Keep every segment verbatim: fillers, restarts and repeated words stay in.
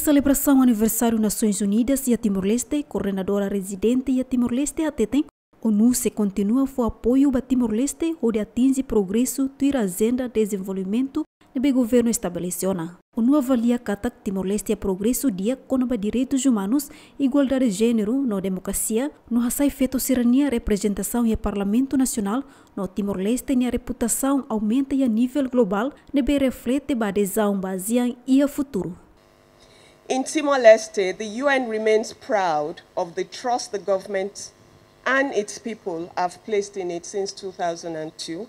Selebrasaun aniversáriu Nasoins Unidas iha Timor-Leste, koordenadora rezidente iha Timor-Leste hateten, ONU sei kontinua fó apoiu ba Timor-Leste hodi atinje progresu tuir ajenda dezenvolvimentu ne'ebé governu estabelese ona. ONU avalia katak Timor-Leste iha progresu di'ak kona-ba direitus umanus, igualdade jéneru no demokrasia, no hasai feto sira-nia reprezentasaun iha Parlamentu Nasionál, no Timor-Leste nia reputasaun aumenta iha nivel globál, ne'ebé reflete ba adezaun ba ASEAN iha futuru. In Timor-Leste, the U N remains proud of the trust the government and its people have placed in it since two thousand and two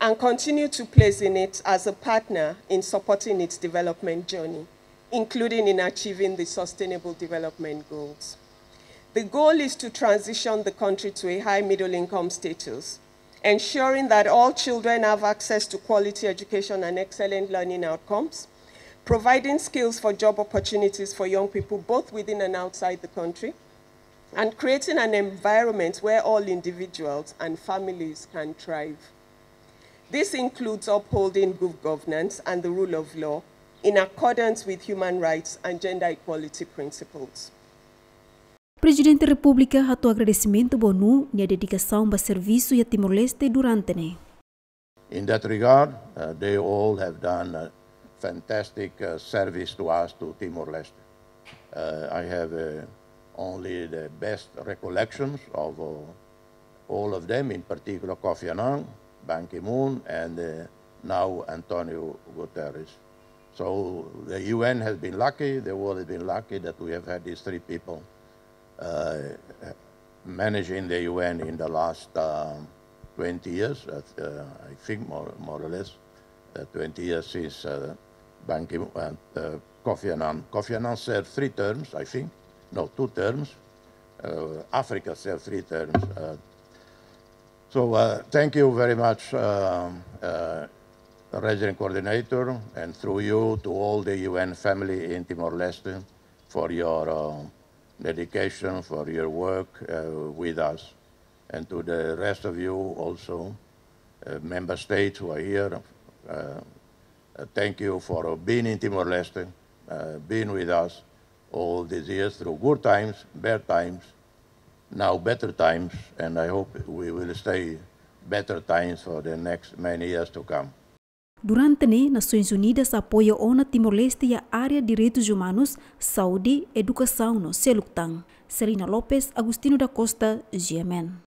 and continue to place in it as a partner in supporting its development journey, including in achieving the Sustainable Development Goals. The goal is to transition the country to a high middle income status, ensuring that all children have access to quality education and excellent learning outcomes, providing skills for job opportunities for young people both within and outside the country, and creating an environment where all individuals and families can thrive. This includes upholding good governance and the rule of law in accordance with human rights and gender equality principles. Prezidente Repúblika hato'o agradesimentu ba ONU nia dedikasaun ba servisu iha Timor-Leste durante ne'e. In that regard, uh, they all have done a fantastic, uh, service to us, to Timor-Leste. Uh, I have, uh, only the best recollections of, uh, all of them, in particular Kofi Annan, Ban Ki-moon, and, uh, now Antonio Guterres. So the U N has been lucky, the world has been lucky that we have had these three people, uh, managing the U N in the last, uh, twenty years, uh, uh, I think more, more or less, uh, twenty years since, uh, Ban Ki-moon, uh, uh, Kofi Annan. Kofi Annan served three terms, I think. No, two terms. Uh, Africa served three terms. Uh, so, uh, thank you very much, um, uh, Resident Coordinator, and through you to all the U N family in Timor-Leste for your, uh, dedication, for your work, uh, with us, and to the rest of you also, uh, member states who are here. Uh, uh, thank you for, uh, being in Timor-Leste, uh, being with us all these years through good times, bad times, now better times, and I hope we will stay better times for the next many years to come. Durante ne'e, Nasoins Unidas apoia ona Timor-Leste iha área direitus umanus, saúde, edukasaun no seluk tan. Celina Lopes, Agostinho da Costa, G M N.